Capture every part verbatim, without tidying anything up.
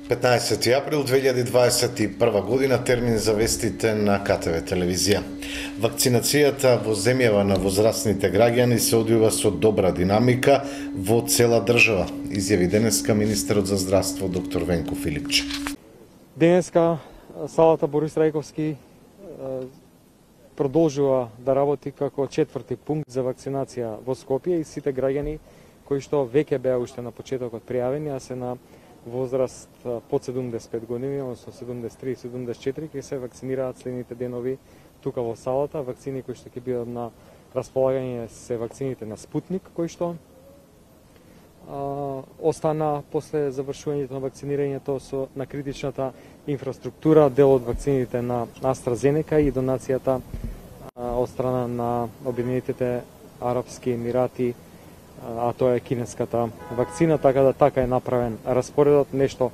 петнаесети април две илјади дваесет и прва година, термин за вестите на К Т В телевизија. Вакцинацијата во земјава на возрастните граѓани се одвива со добра динамика во цела држава, изјави денеска министерот за здравство доктор Венко Филипче. Денеска салата Борис Трајковски продолжува да работи како четврти пункт за вакцинација во Скопје и сите граѓани кои што веќе беа уште на почетокот пријавени, а се на возраст под седумдесет и пет години, односно седумдесет и три и седумдесет и четири, ќе се вакцинираат следните денови тука во салата. Вакцини кои што ќе бидат на располагање се вакцините на Спутник, кои што а, остана после завршувањето на вакцинирањето со на критичната инфраструктура, дел од вакцините на AstraZeneca и донацијата а, од страна на Обединетите Арапски Емирати, а тоа е кинеската вакцина, така да така е направен распоредот, нешто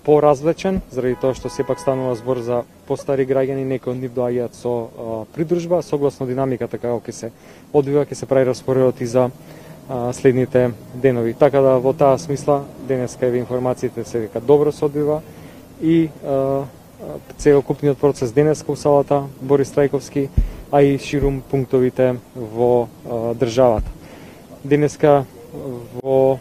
поразвлечен, заради тоа што сепак станува збор за постари граѓани, некои од нив доаѓаат со а, придружба, согласно динамиката како ќе се одвива, ќе се прави распоредот и за а, следните денови. Така да во таа смисла денеска еве информациите се дека добро се одвива и а, целокупниот процес денеска у салата Борис Трајковски, а и ширум пунктовите во а, државата. Денеска во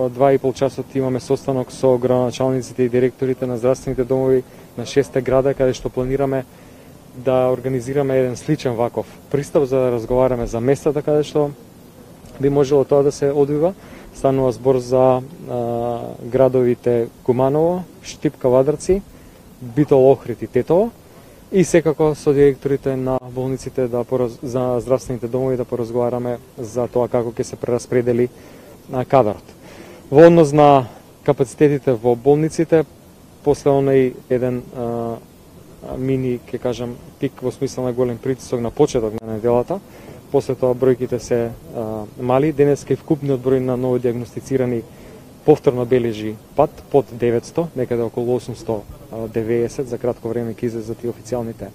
два и пол часот имаме состанок со градоначалниците и директорите на здравствените домови на шесте града, каде што планираме да организираме еден сличен ваков пристап за да разговараме за местата каде што би можело тоа да се одвива. Станува збор за а, градовите Куманово, Штип, Кавадарци, Битол, Охрид и Тетово, и секако со директорите на болниците да пораз... за здравствените домови да поразговараме за тоа како ќе се прераспредели на кадарот. Во однос на капацитетите во болниците, после оној еден а, мини, ќе кажам, пик во смисла на голем притисок на почеток на неделата, после тоа бројките се а, мали. Денеска и вкупниот број на новодиагностицирани повторно бележи пат под деветсто, некаде околу осумсто деведесет, за кратко време ќе излезат и официјалните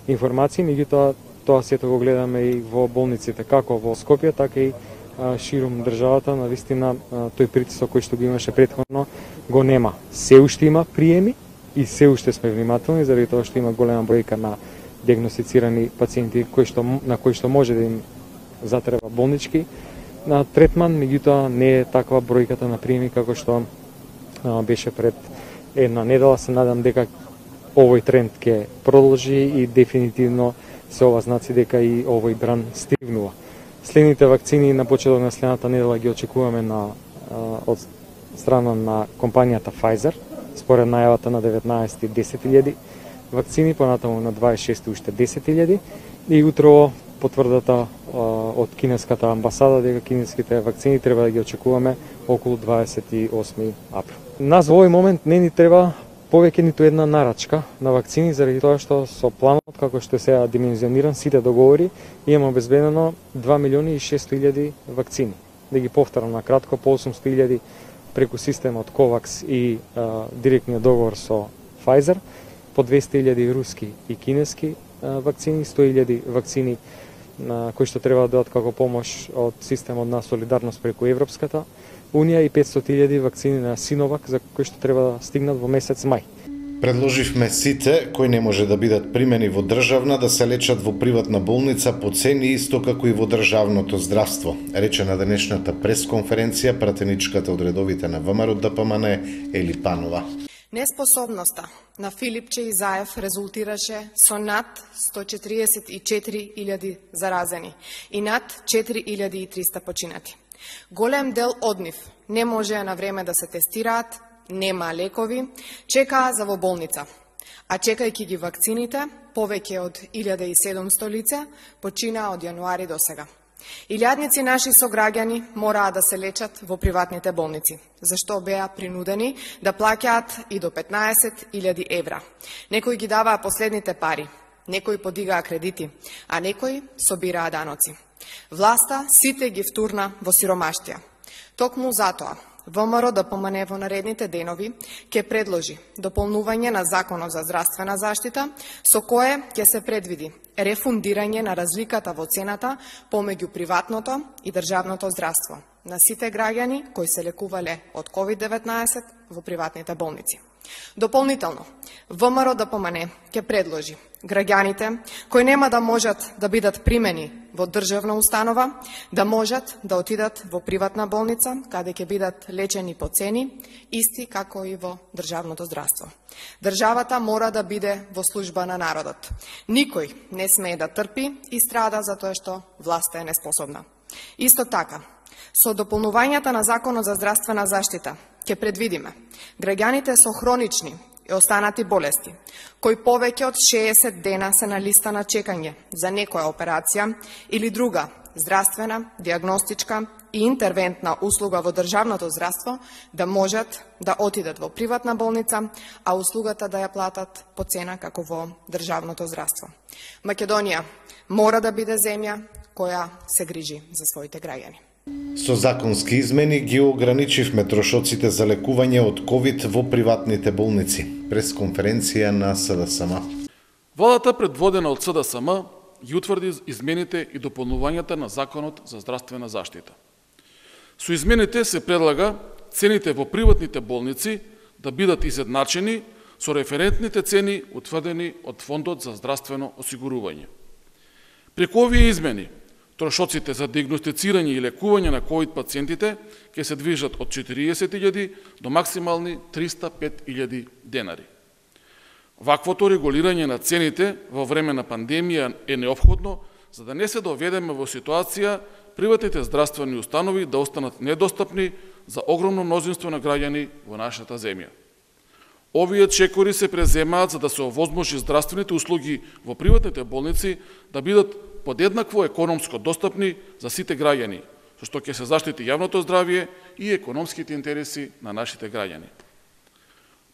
информации, меѓутоа тоа сето го гледаме и во болниците, како во Скопје, така и а, ширум државата. На вистина тој притисок кој што го имаше претходно го нема. Се уште има приеми и се уште сме внимателни, заради тоа што има голема бројка на диагностицирани пациенти кои што, на кои што може да им затреба болнички на третман, меѓутоа не е таква бројката на приеми како што а, беше пред една недела. Се надам дека овој тренд ќе продолжи и дефинитивно се ова знаци дека и овој бран стигнува. Следните вакцини на почеток на следната недела ги очекуваме на, а, од страна на компанијата Pfizer, според најавата на деветнаесети десет илјади вакцини, понатаму на дваесет и шести уште десет илјади и утрово потврдата а, од кинеската амбасада дека кинеските вакцини треба да ги очекуваме околу дваесет и осми април. Нас во овој момент не ни треба повеќе ниту една нарачка на вакцини, заради тоа што со планот како што се димензиониран сите договори имаме обезбедено два милиони и шестстотини илјади вакцини. Да ги повторам на кратко, по осумсто илјади преку системот COVAX и а, директниот договор со Pfizer, по двесте илјади руски и кинески а, вакцини, сто илјади вакцини на кои што треба да дадат како помош од системот на солидарност преку Европската Унија и петстотини илјади вакцини на Синовак за кои што треба да стигнат во месец мај. Предложивме сите кои не може да бидат примени во државна да се лечат во приватна болница по цени исто како и во државното здравство, рече на денешната пресконференција пратеничката од редовите на ВМРО Д П М Н Ели Панова. Неспособноста на Филипче и Заев резултираше со над сто четириесет и четири илјади заразени и над четири илјади и триста починати. Голем дел од нив не можеа на време да се тестираат, нема лекови, чекаа за во болница. А чекајќи ги вакцините, повеќе од илјада и седумсто лица починаа од јануари до сега. Илјадници наши сограѓани мораа да се лечат во приватните болници, зашто беа принудени да плаќаат и до петнаесет илјади евра. Некои ги даваа последните пари, некои подигаа кредити, а некои собираа даноци. Власта сите ги втурна во сиромаштија. Токму затоа, ВМРО да помане во наредните денови ќе предложи дополнување на Законот за здравствена заштита, со кое ќе се предвиди рефундирање на разликата во цената помеѓу приватното и државното здравство на сите граѓани кои се лекувале од ковид деветнаесет во приватните болници. Дополнително, ВМРО да помане ќе предложи граѓаните кои нема да можат да бидат примени во државна установа, да можат да отидат во приватна болница, каде ќе бидат лечени по цени, исти како и во државното здравство. Државата мора да биде во служба на народот. Никој не смее да трпи и страда затоа што власта е неспособна. Исто така, со дополнувањата на Законот за здравствена заштита ќе предвидиме граѓаните со хронични и останати болести, кои повеќе од шеесет дена се на листа на чекање за некоја операција или друга здравствена, диагностичка и интервентна услуга во државното здравство, да можат да отидат во приватна болница, а услугата да ја платат по цена како во државното здравство. Македонија мора да биде земја која се грижи за своите граѓани. Со законски измени ги ограничивме трошоците за лекување од ковид во приватните болници. Прес конференција на СДСМ. Владата, предводена од СДСМ, ги утврди измените и дополнувањата на Законот за здравствена заштита. Со измените се предлага цените во приватните болници да бидат изедначени со референтните цени утврдени од Фондот за здравствено осигурување. Преку овие измени, трошоците за диагностицирање и лекување на ковид пациентите ќе се движат од четириесет илјади до максимални триста и пет илјади денари. Ваквото регулирање на цените во време на пандемија е неопходно за да не се доведеме во ситуација приватните здравствени установи да останат недостапни за огромно мнозинство на граѓани во нашата земја. Овие чекори се преземаат за да се овозможи здравствените услуги во приватните болници да бидат подеднакво економско достапни за сите граѓани, со што ќе се заштити јавното здравје и економските интереси на нашите граѓани.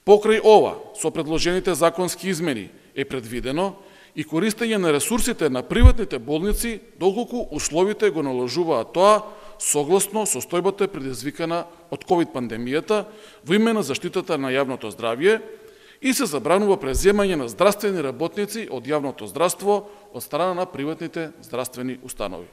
Покрај ова, со предложените законски измени е предвидено и користење на ресурсите на приватните болници доколку условите го наложуваат тоа согласно состојбата предизвикана од ковид пандемијата во име на заштитата на јавното здравје и се забранува преземање на здравствени работници од јавното здравство од страна на приватните здравствени установи.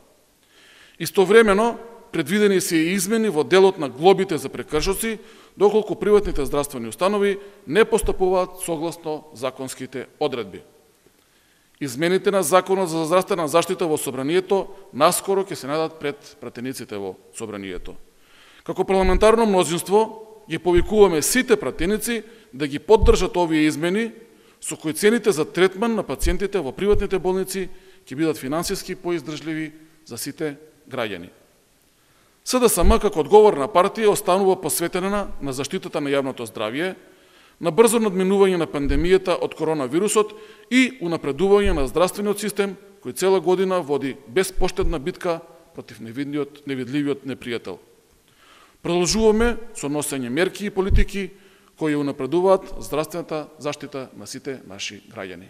Истовремено, предвидени се и измени во делот на глобите за прекршоци, доколку приватните здравствени установи не постапуваат согласно законските одредби. Измените на Законот за здравствена заштита во Собранието наскоро ќе се најдат пред пратениците во Собранието. Како парламентарно мнозинство ги повикуваме сите пратеници да ги поддржат овие измени, со кои цените за третман на пациентите во приватните болници ќе бидат финансиски поиздржливи за сите граѓани. СДСМ како одговорна партија останува посветена на заштитата на јавното здравје, на брзо надминување на пандемијата од коронавирусот и унапредување на здравствениот систем кој цела година води безпоштедна битка против невидливиот, невидливиот непријател. Продолжуваме со носење мерки и политики кои унапредуваат здравствената заштита на сите наши граѓани.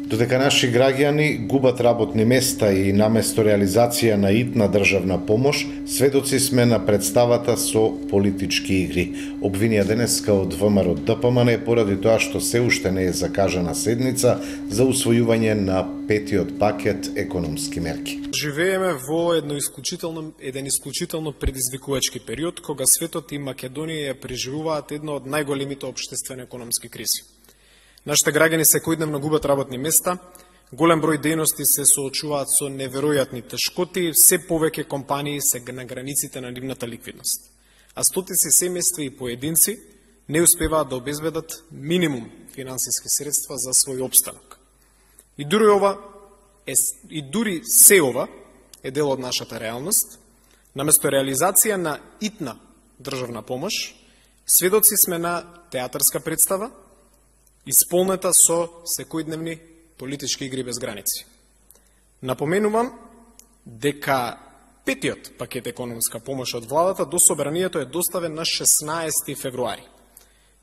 Додека наши граѓани губат работни места и наместо реализација на итна државна помош, сведоци сме на представата со политички игри. Обвинија денеска од ВМРО ДПМН поради тоа што се уште не е закажана седница за усвојување на петиот пакет економски мерки. Живееме во едно исклучително, еден исклучително предизвикувачки период, кога светот и Македонија ја преживуваат едно од најголемите општествено економски кризи. Нашите граѓани секојдневно губат работни места, голем број дејности се соочуваат со неверојатни тешкоти, все повеќе компании се на границите на нивната ликвидност. А стотици семејства и поединци не успеваат да обезбедат минимум финансиски средства за свој опстанок. И дури ова е, и дури се ова е дел од нашата реалност. Наместо реализација на итна државна помош, сведоци сме на театарска представа, исполнета со секојдневни политички игри без граници. Напоменувам дека петиот пакет економска помош од владата до Собранието е доставен на шеснаесети февруари.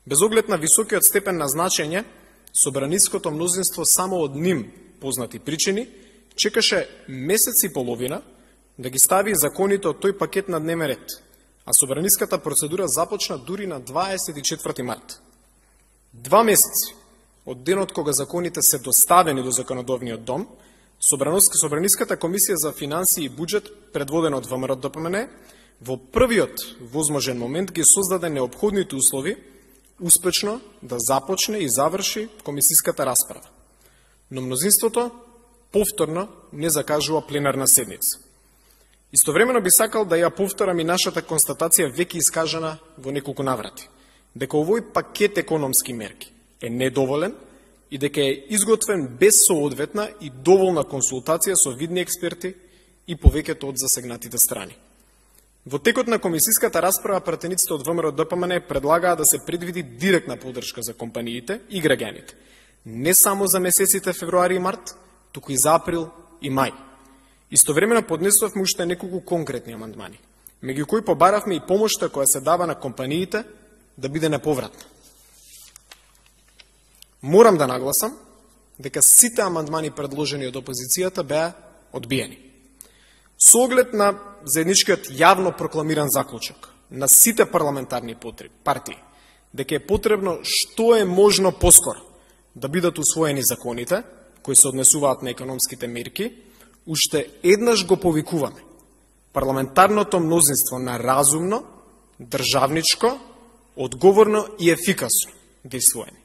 Без оглед на високиот степен на значење, собраниското мнозинство само од ним познати причини чекаше месец и половина да ги стави законите од тој пакет на дневен ред, а собраниската процедура започна дури на дваесет и четврти март. Два месеци од денот кога законите се доставени до законодовниот дом, Собраниската комисија за финансии и буџет, предводена од ВМРО-ДПМН, во првиот возможен момент ги создаде неопходните услови успешно да започне и заврши комисиската расправа. Но мнозинството повторно не закажува пленарна седница. Истовремено би сакал да ја повторам и нашата констатација веќе искажана во неколку наврати, дека овој пакет економски мерки е недоволен и дека е изготвен без соодветна и доволна консултација со видни експерти и повеќето од засегнатите страни. Во текот на комисиската расправа пратениците од ВМРО-ДПМН предлагаа да се предвиди директна поддршка за компаниите и граѓаните, не само за месеците февруари и март, туку и за април и мај. Истовремено поднесувавме уште неколку конкретни амандмани, меѓу кои побаравме и помошта која се дава на компаниите да биде неповратна. Морам да нагласам дека сите амандмани предложени од опозицијата беа одбиени. Со оглед на заедничкиот јавно прокламиран заклучок на сите парламентарни партии, дека е потребно што е можно поскоро да бидат усвоени законите кои се однесуваат на економските мерки, уште еднаш го повикуваме парламентарното мнозинство на разумно, државничко, одговорно и ефикасно дејствување.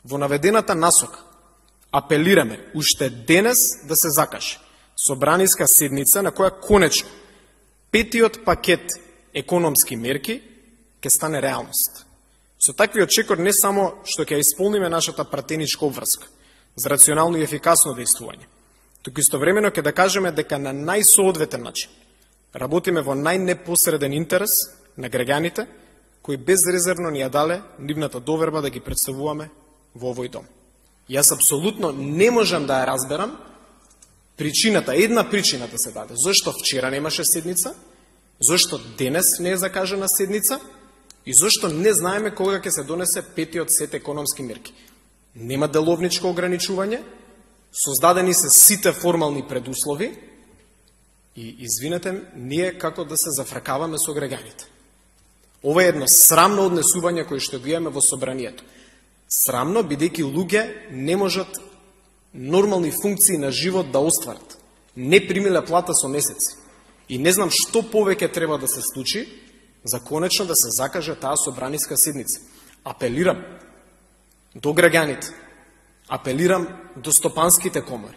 Во наведената насока апелираме уште денес да се закаже собраниска седница на која конечно петиот пакет економски мерки ќе стане реалност. Со такви очекор не само што ќе исполниме нашата пратеничка обврска за рационално и ефикасно дејствување, туку истовремено ќе да кажеме дека на најсоодветен начин работиме во најнепосреден интерес на граѓаните кои безрезервно ни ја дале нивната доверба да ги представуваме во овој дом. Јас апсолутно не можам да ја разберам причината, една причината се даде, зашто вчера немаше седница, зашто денес не е закажана седница и зашто не знаеме кога ќе се донесе петиот сет економски мерки. Нема деловничко ограничување, создадени се сите формални предуслови и, извинете, ние како да се зафракаваме со граѓаните. Ова е едно срамно однесување кој што го имаме во собранието. Срамно, бидејќи луѓе не можат нормални функции на живот да остварат. Не примиле плата со месеци. И не знам што повеќе треба да се случи за конечно да се закаже таа собраниска седница. Апелирам до граѓаните, апелирам до стопанските комори,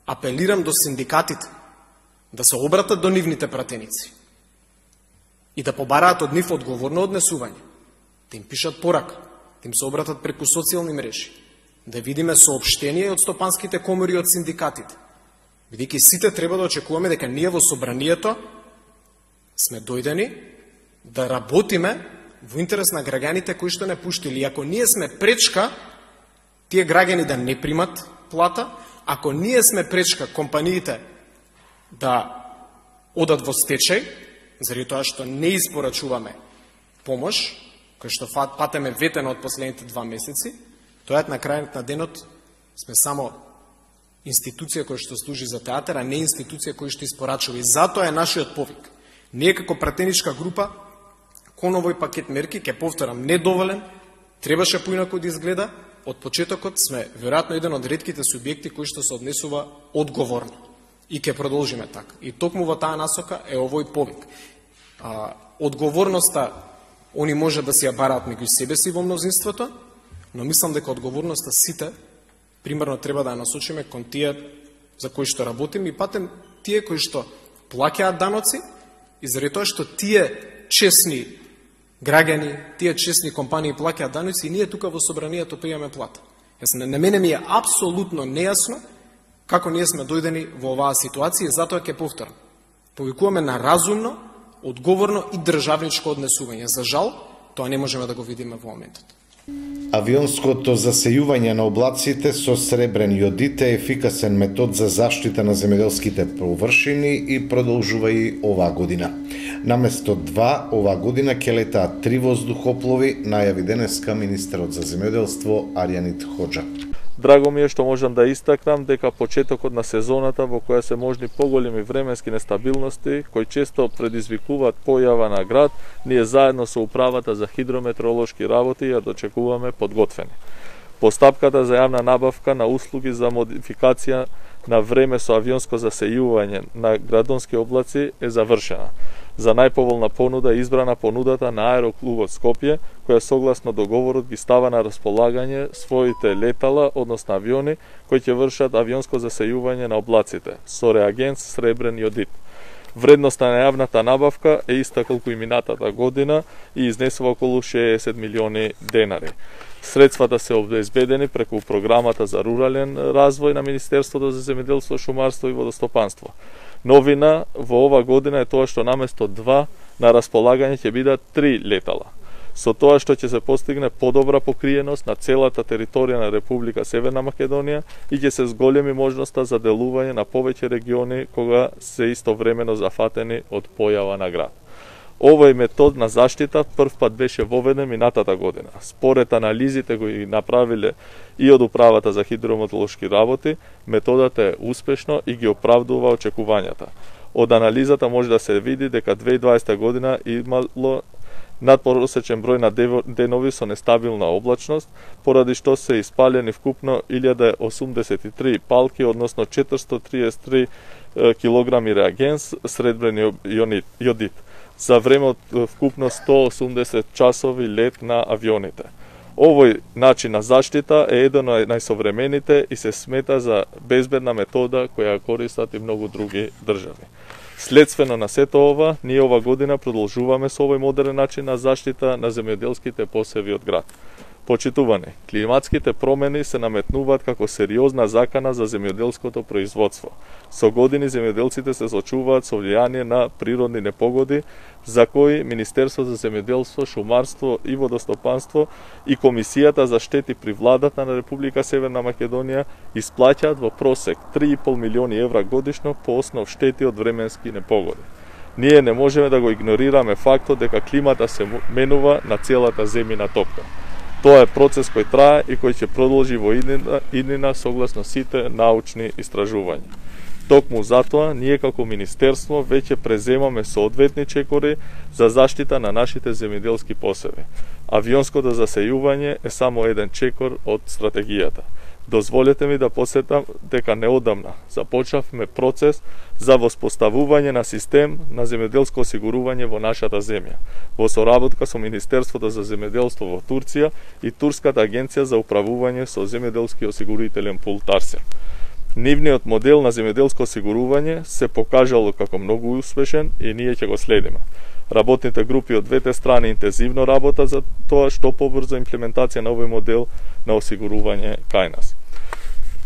апелирам до синдикатите да се обратат до нивните пратеници и да побараат од нив одговорно однесување, да им пишат порака, да им се обратат преку социјални мрежи, да видиме соопштение од стопанските комори и од синдикатите. Бидејќи сите треба да очекуваме дека ние во собранието сме дојдени да работиме во интерес на граѓаните кои што не пуштили. Ако ние сме пречка тие граѓани да не примат плата, ако ние сме пречка компаниите да одат во стечај, заради тоа што не испорачуваме помош, кој што патеме ветено од последните два месеци, тоа на крајот на денот сме само институција која што служи за театар, а не институција која што испорачува. И затоа е нашиот повик. Ние како пратеничка група кон овој пакет мерки, ќе повторам, недоволен, требаше поинаку да изгледа. Од почетокот сме веројатно еден од ретките субјекти кои што се однесува одговорно. И ќе продолжиме така. И токму во таа насока е овој повик. А, одговорноста они може да си ја бараат меѓу себе си во мнозинството, но мислам дека одговорноста сите примерно треба да ја насочиме кон тие за кои што работим и патем тие кои што плаќаат даноци и заради тоа што тие честни граѓани, тие честни компании плаќаат даноци и ние тука во собранието пријаме плата. Јас на мене ми е апсолутно нејасно како ние сме дојдени во оваа ситуација и затоа ќе повторам. Повикуваме на разумно, одговорно и државничко однесување. За жал, тоа не можеме да го видиме во моментот. Авионското засејување на облаците со сребрен јодит е ефикасен метод за заштита на земјоделските површини и продолжува и оваа година. Наместо два, оваа година ќе летаат три воздухоплови, најави денеска министерот за земјоделство Арјанит Хоџа. Драго ми е што можам да истакнам дека почетокот на сезоната во која се можни поголеми временски нестабилности, кои често предизвикуваат појава на град, ние заедно со управата за хидрометеоролошки работи ја дочекуваме подготвени. Постапката за јавна набавка на услуги за модификација на време со авионско засејување на градонски облаци е завршена. За најповолна понуда е избрана понудата на Аероклубот Скопје, која согласно договорот ги става на располагање своите летала, односно авиони, кои ќе вршат авионско засејување на облаците, со реагент сребрен јодит. Вредноста на јавната набавка е иста колку и минатата година и изнесува околу шеесет милиони денари. Средствата се обезбедени преку програмата за рурален развој на Министерството за земјоделство, шумарство и водостопанство. Новина во ова година е тоа што наместо два на располагање ќе бидат три летала. Со тоа што ќе се постигне подобра покриеност на целата територија на Република Северна Македонија и ќе се зголеми можноста за делување на повеќе региони кога се истовремено зафатени од појава на град. Овој метод на заштита прв пат беше воведен минатата година. Според анализите кои направиле и од управата за хидрометеоролошки работи, методата е успешно и ги оправдува очекувањата. Од анализата може да се види дека две илјади и дваесета година имало надпросечен број на денови со нестабилна облачност, поради што се испалени вкупно илјада осумдесет и три палки, односно четиристотини триесет и три килограми реагенс сребрен јодит, за време од вкупно сто осумдесет часови лет на авионите. Овој начин на заштита е еден од најсовремените и се смета за безбедна метода која користат и многу други држави. Следствено на сето ова, ние ова година продолжуваме со овој модерен начин на заштита на земјоделските посеви од град. Почитувани, климатските промени се наметнуваат како сериозна закана за земјоделското производство. Со години земјоделците се соочуваат со влијание на природни непогоди, за кои Министерство за земјоделство, шумарство и водостопанство и Комисијата за штети при владата на Република Северна Македонија исплаќаат во просек три и пол милиони евра годишно по основ штети од временски непогоди. Ние не можеме да го игнорираме фактот дека климата се менува на целата земјина топка. Тоа е процес кој трае и кој ќе продолжи во иднина, иднина согласно сите научни истражувања. Токму затоа, ние како Министерство веќе преземаме соодветни чекори за заштита на нашите земјоделски посеви. Авионското засејување е само еден чекор од стратегијата. Дозволете ми да посетам дека неодамна започнавме процес за воспоставување на систем на земјоделско осигурување во нашата земја, во соработка со Министерството за земјоделство во Турција и Турската агенција за управување со земјоделски осигурителен пул Тарсен. Нивниот модел на земјоделско осигурување се покажало како многу успешен и ние ќе го следиме. Работните групи од двете страни интензивно работат за тоа што побрзо имплементација на овој модел на осигурување кај нас.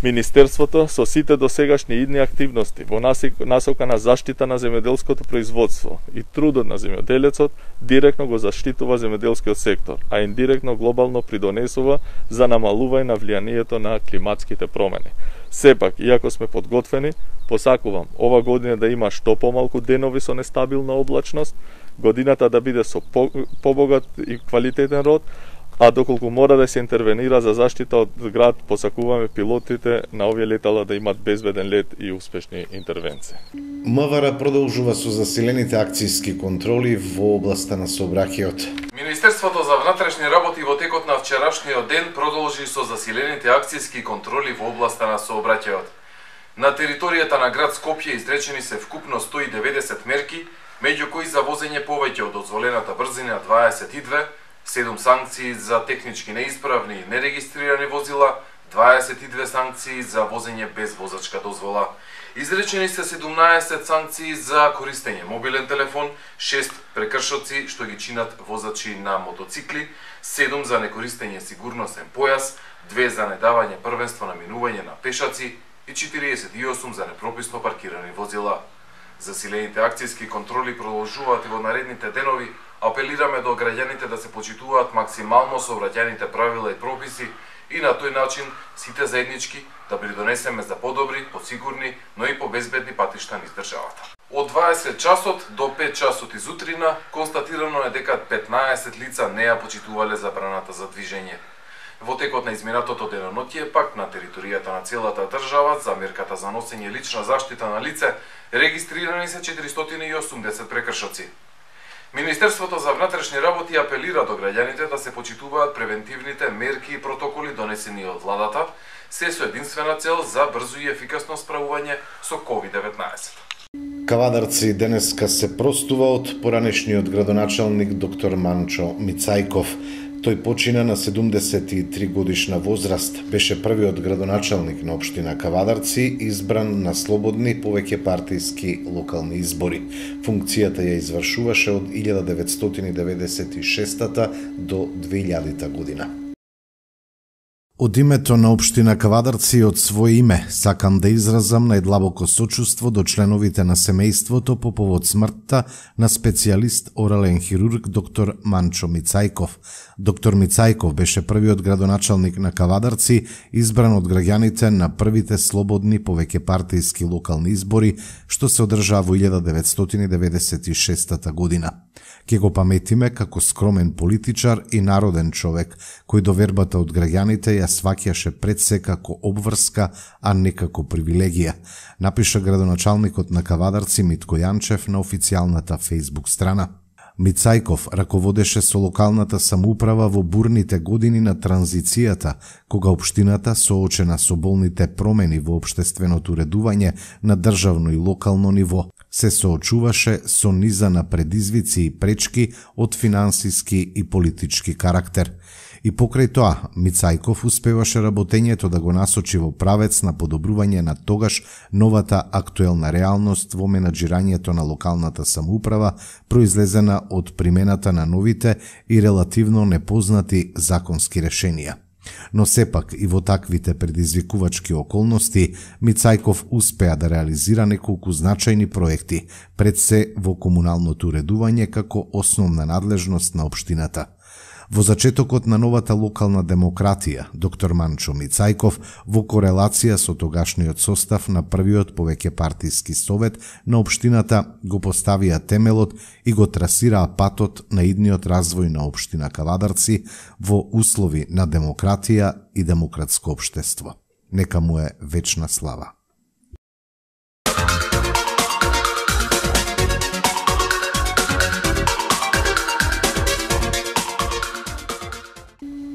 Министерството со сите досегашни идни активности во насока на заштита на земјоделското производство и трудот на земјоделецот директно го заштитува земјоделскиот сектор, а индиректно глобално придонесува за намалување на влијанието на климатските промени. Сепак, иако сме подготвени, посакувам ова година да има што помалку денови со нестабилна облачност, годината да биде со побогат и квалитетен род, а доколку мора да се интервенира за заштита од град, посакуваме пилотите на овие летала да имат безбеден лет и успешни интервенции. МВР продолжува со засилените акцијски контроли во областа на сообраќајот. Министерството за внатрешни работи во текот на вчерашниот ден продолжи со засилените акцијски контроли во областа на сообраќајот. На територијата на град Скопје изречени се вкупно сто и деветдесет мерки, меѓу кои за возење повеќе од дозволената брзина дваесет и две, седум санкции за технички неисправни и нерегистрирани возила, дваесет и две санкции за возење без возачка дозвола. Изречени се седумнаесет санкции за користење мобилен телефон, шест прекршоци што ги чинат возачи на мотоцикли, седум за некористење сигурносен појас, две за недавање првенство на минување на пешаци и четириесет и осум за непрописно паркирани возила. Засилените акцијски контроли продолжуваат и во наредните денови. Апелираме до граѓаните да се почитуваат максимално сообраќајните правила и прописи и на тој начин сите заеднички да придонесеме за подобри, посигурни, но и побезбедни патишта низ државата. Од дваесет часот до пет часот изутрина констатирано е дека петнаесет лица не ја почитувале забраната за движење. Во текот на изминатото деноноќие пак на територијата на целата држава за мерката за носење лична заштита на лице регистрирани се четиристотини и осумдесет прекршоци. Министерството за внатрешни работи апелира до граѓаните да се почитуваат превентивните мерки и протоколи донесени од владата, се со единствена цел за брзо и ефикасно справување со ковид деветнаесет. Кавадарци денеска се простува од поранешниот градоначалник доктор Манчо Мицајков. Тој почина на седумдесет и три годишна возраст. Беше првиот градоначалник на општина Кавадарци, избран на слободни повеќе партиски локални избори. Функцијата ја извршуваше од илјада деветстотини деветдесет и шеста до две илјадита година. Од името на општина Кавадарци и од своје име сакам да изразам најдлабоко сочувство до членовите на семејството по повод смртта на специјалист орален хирург доктор Манчо Мицајков. Доктор Мицајков беше првиот градоначалник на Кавадарци, избран од граѓаните на првите слободни повеќе партиски локални избори, што се одржаа во илјада деветстотини деветдесет и шеста година. Ке го паметиме како скромен политичар и народен човек, кој довербата од граѓаните ја сваќаше пред се како обврска, а не како привилегија, напиша градоначалникот на Кавадарци Митко Јанчев на официјалната фејсбук страна. Мицајков раководеше со локалната самоуправа во бурните години на транзицијата, кога општината, соочена со болните промени во општественото уредување на државно и локално ниво, се соочуваше со низа на предизвици и пречки од финансиски и политички карактер. И покрај тоа, Мицајков успеваше работењето да го насочи во правец на подобрување на тогаш новата актуелна реалност во менаџирањето на локалната самоуправа, произлезена од примената на новите и релативно непознати законски решенија. Но сепак и во таквите предизвикувачки околности, Мицајков успеа да реализира неколку значајни проекти, пред се во комуналното уредување како основна надлежност на општината. Во зачетокот на новата локална демократија, доктор Манчо Мицајков, во корелација со тогашниот состав на првиот повеќе партиски совет на општината, го поставија темелот и го трасираа патот на идниот развој на општина Кавадарци во услови на демократија и демократско општество. Нека му е вечна слава.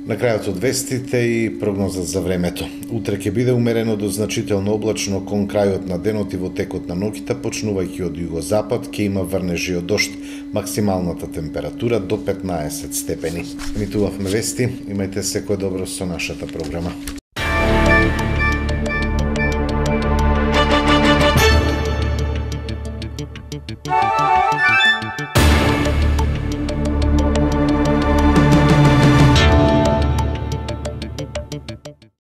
На крајот од вестите и прогноза за времето. Утре ќе биде умерено до значително облачно кон крајот на денот и во текот на ноќта, почнувајќи од југозапад, ќе има врнежи од дожд. Максималната температура до петнаесет степени. Емитувавме вести, имајте секој добро со нашата програма.